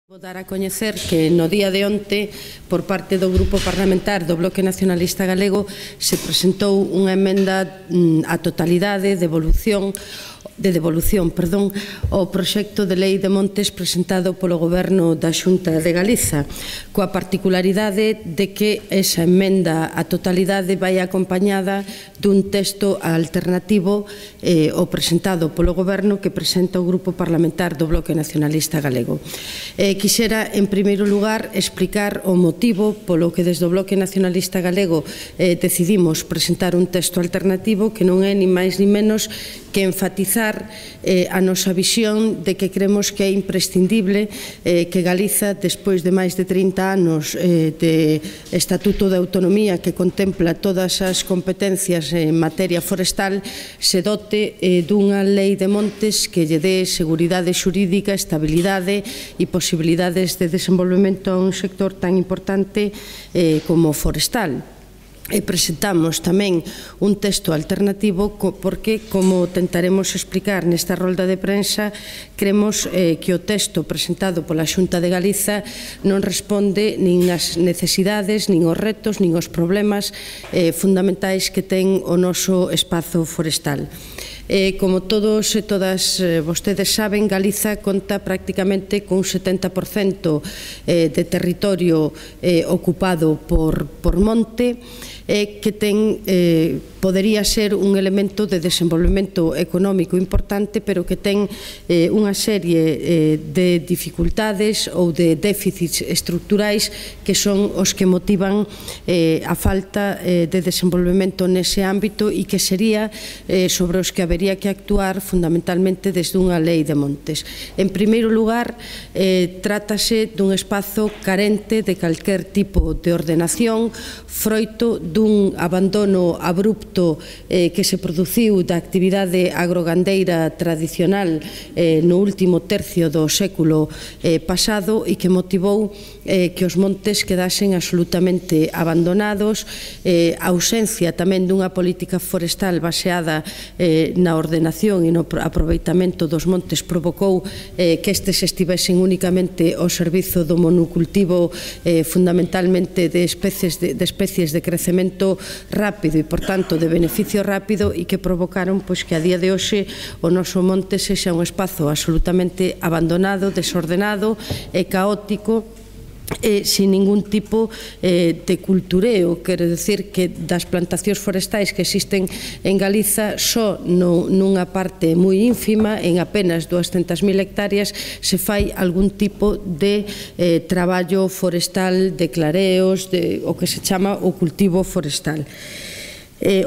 Vou dar a coñecer que no día de onte, por parte do Grupo Parlamentar do Bloque Nacionalista Galego, se presentou unha emenda á totalidade de devolución ao proxecto de lei de montes presentado polo Goberno da Xunta de Galiza, coa particularidade de que esa emenda á totalidade vai acompañada dun texto alternativo ao presentado polo Goberno que presenta o Grupo Parlamentar do Bloque Nacionalista Galego. Quixera, en primeiro lugar, explicar o motivo polo que desde o Bloque Nacionalista Galego decidimos presentar un texto alternativo que non é ni máis ni menos que enfatizar a nosa visión de que creemos que é imprescindible que Galiza, despois de máis de 30 anos de Estatuto de Autonomía que contempla todas as competencias en materia forestal, se dote dunha lei de montes que lle dé seguridade xurídica, estabilidade e posibilidades de desenvolvemento a un sector tan importante como o forestal. E presentamos tamén un texto alternativo porque, como tentaremos explicar nesta rolda de prensa, creemos que o texto presentado pola Xunta de Galiza non responde nin ás necesidades, nin aos retos, nin aos problemas fundamentais que ten o noso espazo forestal. Como todos e todas vostedes saben, Galiza conta prácticamente cun 70% de territorio ocupado por monte, que podería ser un elemento de desenvolvemento económico importante, pero que ten unha serie de dificultades ou de déficits estructurais que son os que motivan a falta de desenvolvemento nese ámbito e que sería sobre os que habería que actuar fundamentalmente desde unha lei de montes. En primeiro lugar, trátase dun espazo carente de calquer tipo de ordenación, froito dun abandono abrupto que se produciu da actividade agrogandeira tradicional no último tercio do século pasado e que motivou que os montes quedasen absolutamente abandonados, a ausencia tamén dunha política forestal baseada na ordenación e no aproveitamento dos montes provocou que estes estivesen únicamente ao servizo do monocultivo fundamentalmente de especies de crecemento rápido e, por tanto, de beneficio rápido e que provocaron que a día de hoxe o noso monte sexa un espazo absolutamente abandonado, desordenado e caótico sin ningún tipo de cultureo. Quero dicir que das plantacións forestais que existen en Galiza, só nunha parte moi ínfima, en apenas 200.000 hectáreas, se fai algún tipo de traballo forestal, de clareos, o que se chama o cultivo forestal.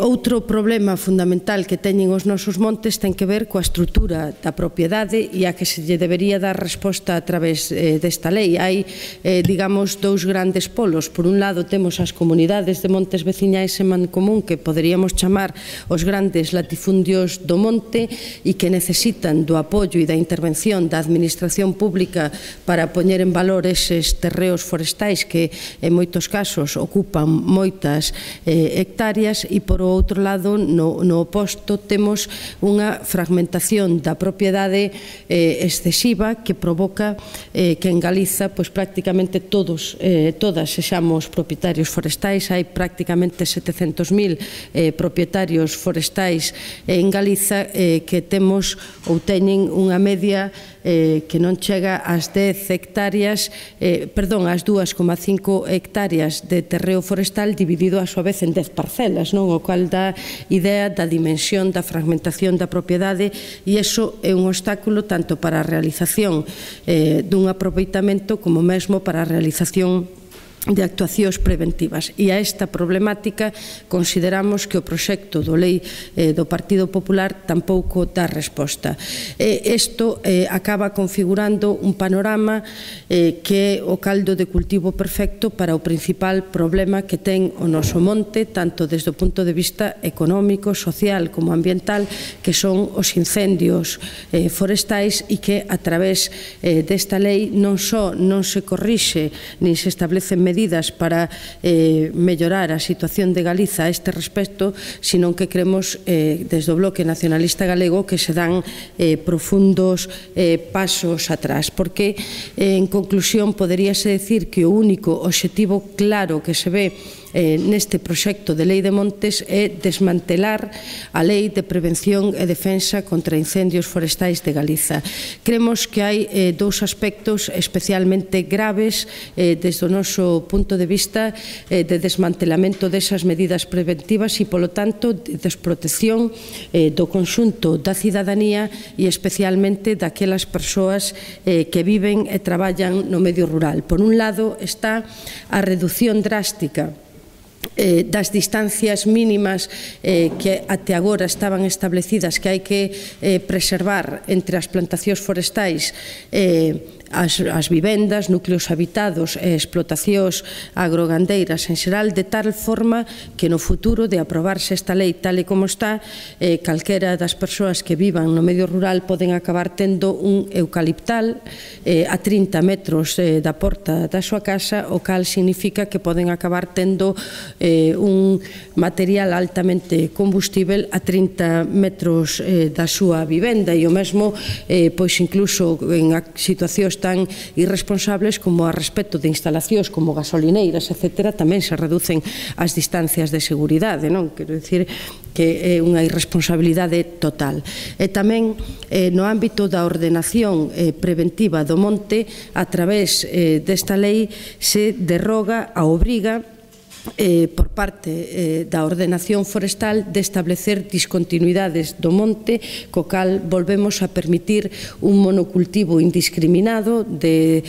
Outro problema fundamental que teñen os nosos montes ten que ver coa estrutura da propiedade e a que se lle debería dar resposta a través desta lei. Hai, digamos, dous grandes polos. Por un lado, temos as comunidades de montes veciñais en mancomún que poderíamos chamar os grandes latifundios do monte e que necesitan do apoio e da intervención da administración pública para poñer en valor eses terreos forestais que en moitos casos ocupan moitas hectáreas e, por outro lado, no oposto, temos unha fragmentación da propiedade excesiva que provoca que en Galiza prácticamente todas sexamos propietarios forestais. Hai prácticamente 700.000 propietarios forestais en Galiza que temos ou teñen unha media que non chega ás 10 hectáreas, perdón, ás 2,5 hectáreas de terreo forestal dividido a súa vez en 10 parcelas, non? O cual dá idea da dimensión da fragmentación da propiedade e iso é un obstáculo tanto para a realización dun aproveitamento como mesmo para a realización de actuacións preventivas. E a esta problemática consideramos que o proxecto do lei do Partido Popular tampouco dá resposta. Isto acaba configurando un panorama que é o caldo de cultivo perfecto para o principal problema que ten o noso monte, tanto desde o punto de vista económico, social como ambiental, que son os incendios forestais e que a través desta lei non só non se corrixe nin se establecen medidas para mellorar a situación de Galiza a este respecto, senón que cremos desde o Bloque Nacionalista Galego que se dan profundos pasos atrás, porque en conclusión poderíase decir que o único obxectivo claro que se ve neste proxecto de Lei de Montes é desmantelar a Lei de Prevención e Defensa contra Incendios Forestais de Galiza. Cremos que hai dous aspectos especialmente graves desde o noso punto de vista de desmantelamento desas medidas preventivas e, polo tanto, de desprotección do conxunto da cidadanía e especialmente daquelas persoas que viven e traballan no medio rural. Por un lado está a reducción drástica das distancias mínimas que até agora estaban establecidas que hai que preservar entre as plantacións forestais as vivendas, núcleos habitados e explotacións agrogandeiras en xeral, de tal forma que no futuro de aprobarse esta lei tal e como está, calquera das persoas que vivan no medio rural poden acabar tendo un eucaliptal a 30 metros da porta da súa casa, o cal significa que poden acabar tendo un material altamente combustível a 30 metros da súa vivenda, e o mesmo pois incluso en situacións tan irresponsables como a respecto de instalacións como gasolineiras, etc., tamén se reducen as distancias de seguridade, non? Quero dicir que é unha irresponsabilidade total. E tamén no ámbito da ordenación preventiva do monte, a través desta lei se derroga a obriga por parte da ordenación forestal de establecer discontinuidades do monte, co cal volvemos a permitir un monocultivo indiscriminado de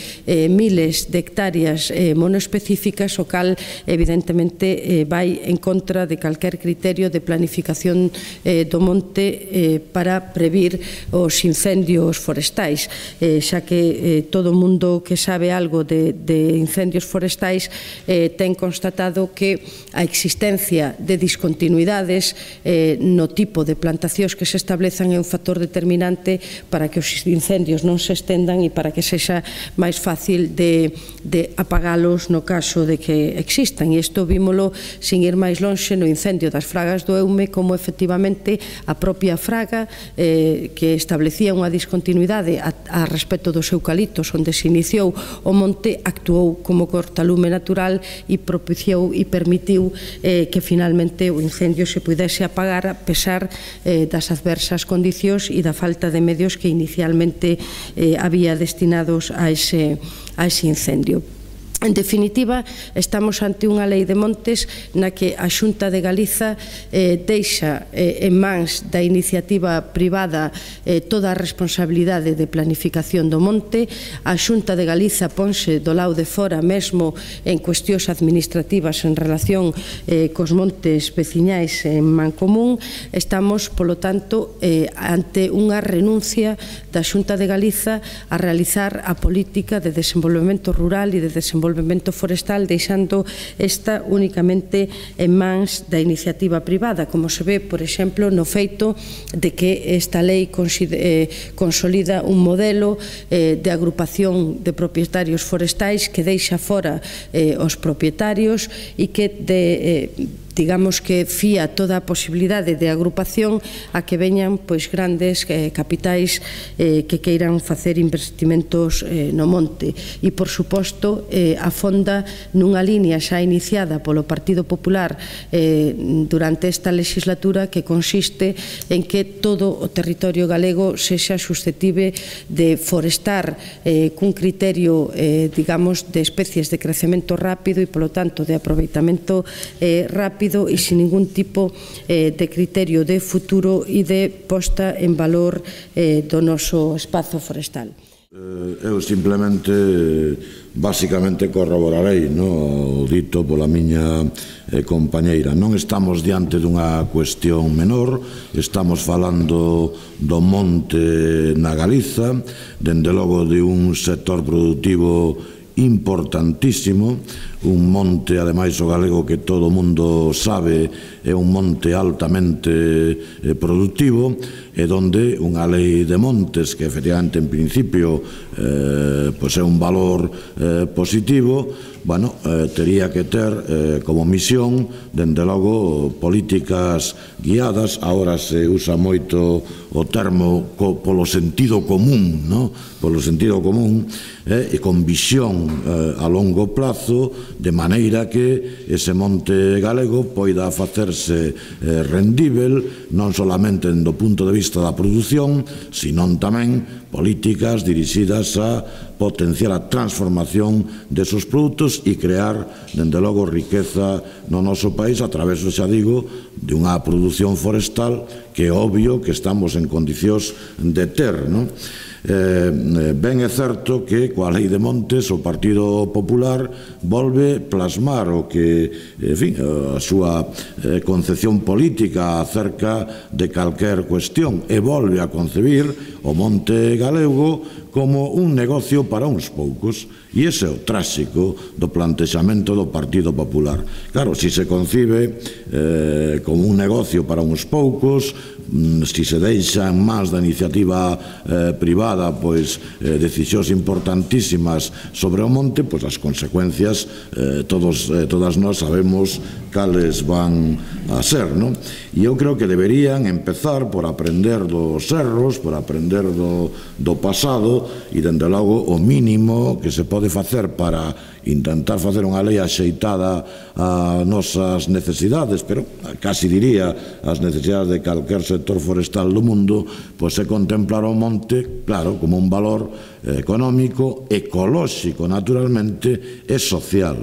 miles de hectáreas monoespecíficas, o cal evidentemente vai en contra de calquer criterio de planificación do monte para previr os incendios forestais, xa que todo o mundo que sabe algo de incendios forestais ten constatado que a existencia de discontinuidades no tipo de plantacións que se establezan é un factor determinante para que os incendios non se estendan e para que sexa máis fácil de apagalos no caso de que existan. E isto vímolo sin ir máis lonxe no incendio das fragas do Eume, como efectivamente a propia fraga que establecía unha discontinuidade a respecto dos eucaliptos onde se iniciou o monte actuou como cortalume natural e propiciou e permitiu que finalmente o incendio se pudese apagar a pesar das adversas condicións e da falta de medios que inicialmente había destinados a ese incendio. En definitiva, estamos ante unha lei de montes na que a Xunta de Galiza deixa en mans da iniciativa privada toda a responsabilidade de planificación do monte. A Xunta de Galiza ponse do lado de fora mesmo en cuestións administrativas en relación cos montes veciñais en Mancomún. Estamos, polo tanto, ante unha renuncia da Xunta de Galiza a realizar a política de desenvolvemento rural e de desenvolvemento forestal, deixando esta únicamente en mans da iniciativa privada, como se ve, por exemplo, no feito de que esta lei consolida un modelo de agrupación de propietarios forestais que deixa fora os propietarios e que digamos que fía toda a posibilidade de agrupación a que veñan pois grandes capitais que queiran facer investimentos no monte e, por suposto, afonda nunha liña xa iniciada polo Partido Popular durante esta legislatura, que consiste en que todo o territorio galego sexa susceptible de forestar cun criterio, digamos, de especies de crecemento rápido e, polo tanto, de aproveitamento rápido e sin ningún tipo de criterio de futuro e de posta en valor do noso espazo forestal. Eu simplemente, basicamente, corroborarei o dito pola miña compañeira. Non estamos diante dunha cuestión menor, estamos falando do monte na Galiza, dende logo de un sector productivo importantísimo, un monte, ademais o galego que todo o mundo sabe é un monte altamente productivo, e donde unha lei de montes que efectivamente en principio é un valor positivo, tería que ter como misión, dende logo, políticas guiadas. Agora se usa moito o termo polo sentido común, polo sentido común, e con visión a longo plazo, de maneira que ese monte galego poida facerse rendível, non solamente do punto de vista da produción, senón tamén políticas dirixidas a potenciar a transformación desos produtos e crear, dende logo, riqueza no noso país a través, xa digo, de unha produción forestal que é obvio que estamos en condicións de ter, Ben é certo que coa lei de montes o Partido Popular volve plasmar o que, a súa concepción política acerca de calquer cuestión, e volve a concebir o monte galego como un negocio para uns poucos, e ese é o tráxico do plantexamento do Partido Popular. Claro, se se concibe como un negocio para uns poucos, se se deixa en mans da iniciativa privada decisións importantísimas sobre o monte, as consecuencias todas nós sabemos cales van a ser, e eu creo que deberían empezar por aprender dos erros, por aprender do pasado, e dende logo o mínimo que se pode facer para intentar facer unha lei axeitada a nosas necesidades, pero casi diría as necesidades de calquer sector forestal do mundo, é contemplar o monte, claro, como un valor económico, ecolóxico, naturalmente, e social.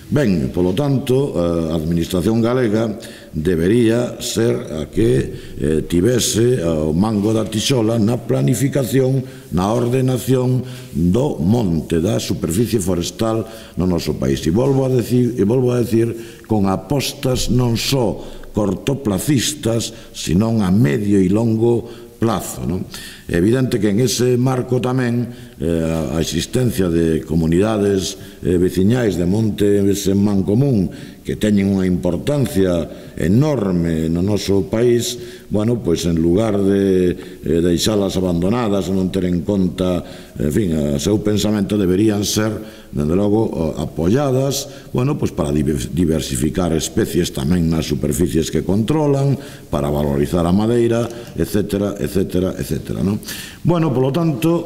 Ben, polo tanto, a Administración galega debería ser a que tivese o mango da tixola na planificación, na ordenación do monte, da superficie forestal no noso país. E volvo a decir, con apostas non só cortoplacistas, senón a medio e longo plazo. É evidente que en ese marco tamén a existencia de comunidades veciñais de montes en mancomún que teñen unha importancia enorme no noso país, en lugar de deixalas abandonadas ou non ter en conta, o seu pensamento, deberían ser, dende logo, apoiadas, para diversificar especies tamén nas superficies que controlan, para valorizar a madeira, etcétera, etcétera, etcétera. Polo tanto,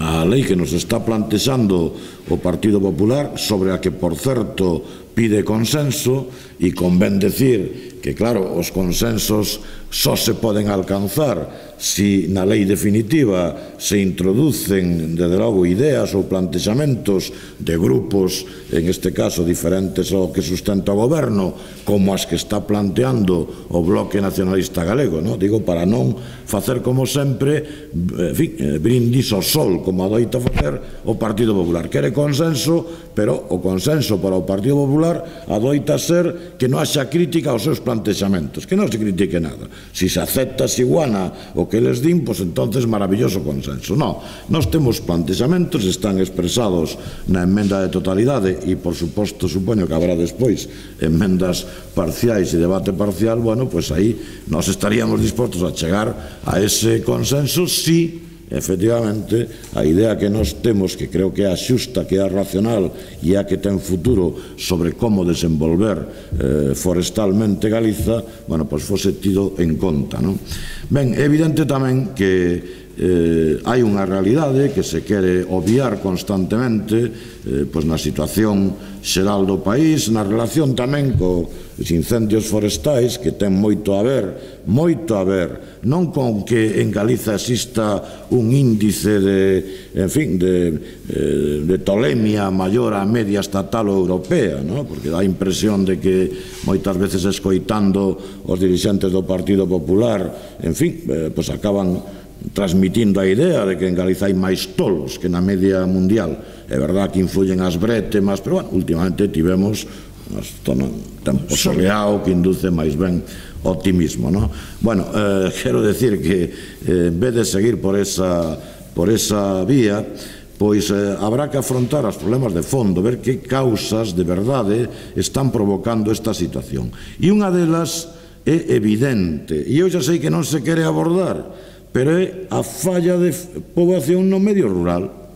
a lei que nos está plantexando o Partido Popular, sobre a que, por certo, pide consenso, e convén decir que, claro, os consensos só se poden alcanzar se na lei definitiva se introducen, desde logo, ideas ou plantexamentos de grupos, en este caso diferentes ao que sustenta o goberno, como as que está planteando o Bloque Nacionalista Galego, digo, para non facer como sempre brindis ao sol, como adoita facer o Partido Popular. Quere consenso, pero o consenso para o Partido Popular adoita ser que non haxa crítica aos seus plantexamentos, que non se critique nada. Se se acepta, se iguana o que les din, entonces maravilloso consenso. Non, nós temos plantexamentos, están expresados na emenda de totalidade, e por suposto supoño que habrá despois emendas parciais e debate parcial. Aí nós estaríamos dispostos a chegar a ese consenso si efectivamente a idea que nós temos, que creo que é a xusta, que é a racional e a que ten futuro sobre como desenvolver forestalmente Galiza, fose tido en conta. Ben, é evidente tamén que hai unha realidade que se quere obviar constantemente na situación xeral do país, na relación tamén cos incendios forestais, que ten moito a ver, non con que en Galiza exista un índice de tolemia maior a media estatal ou europea, porque dá a impresión de que moitas veces escoitando os dirixentes do Partido Popular, acaban transmitindo a idea de que en Galiza hai máis tolos que na media mundial. É verdad que influyen as brétemas, pero últimamente tivemos un tempo soleado que induce máis ben optimismo. Quero decir que en vez de seguir por esa vía, pois habrá que afrontar os problemas de fondo, ver que causas de verdade están provocando esta situación. E unha delas é evidente, e eu xa sei que non se quere abordar, pero é a falla de poboación no medio rural.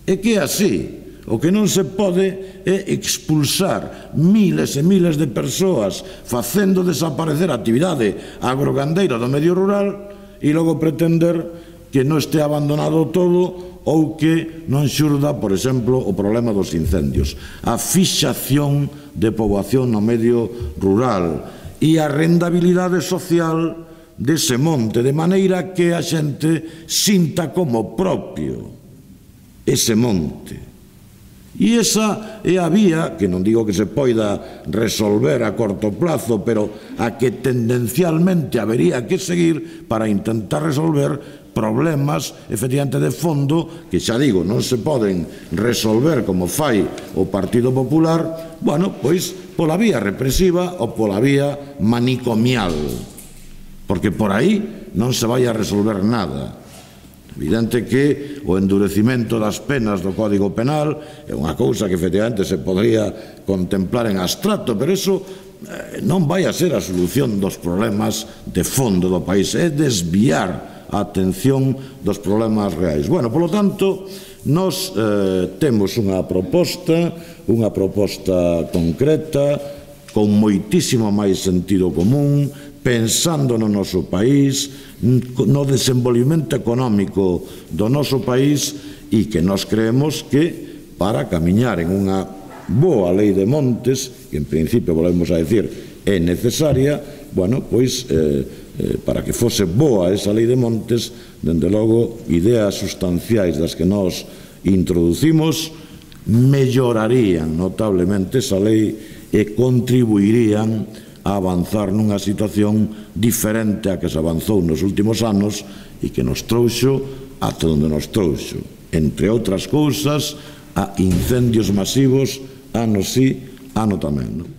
É que é así. O que non se pode é expulsar miles e miles de persoas facendo desaparecer a actividade agrogandeira do medio rural e logo pretender que non este abandonado todo ou que non xurda, por exemplo, o problema dos incendios. A fixación de poboación no medio rural e a rendabilidade social dese monte, de maneira que a xente sinta como propio ese monte. E esa é a vía, que non digo que se poida resolver a corto plazo, pero a que tendencialmente habería que seguir para intentar resolver problemas, efectivamente, de fondo, que xa digo, non se poden resolver como fai o Partido Popular, bueno, pois pola vía represiva ou pola vía manicomial, porque por aí non se vai a resolver nada. Evidente que o endurecimento das penas do Código Penal é unha cousa que efectivamente se podría contemplar en abstracto, pero iso non vai a ser a solución dos problemas de fondo do país, é desviar a atención dos problemas reais. Bueno, polo tanto, nós temos unha proposta concreta, con moitísimo máis sentido común, pensando no noso país, no desenvolvimento económico do noso país, e que nós creemos que para camiñar en unha boa lei de montes, que en principio volvemos a decir é necesaria, bueno, pois para que fose boa esa lei de montes, dende logo, ideas sustanciais das que nós introducimos mellorarían notablemente esa lei e contribuirían a avanzar nunha situación diferente a que se avanzou nos últimos anos e que nos trouxo ata onde nos trouxo, entre outras cousas, a incendios masivos ano sí, ano tamén, non?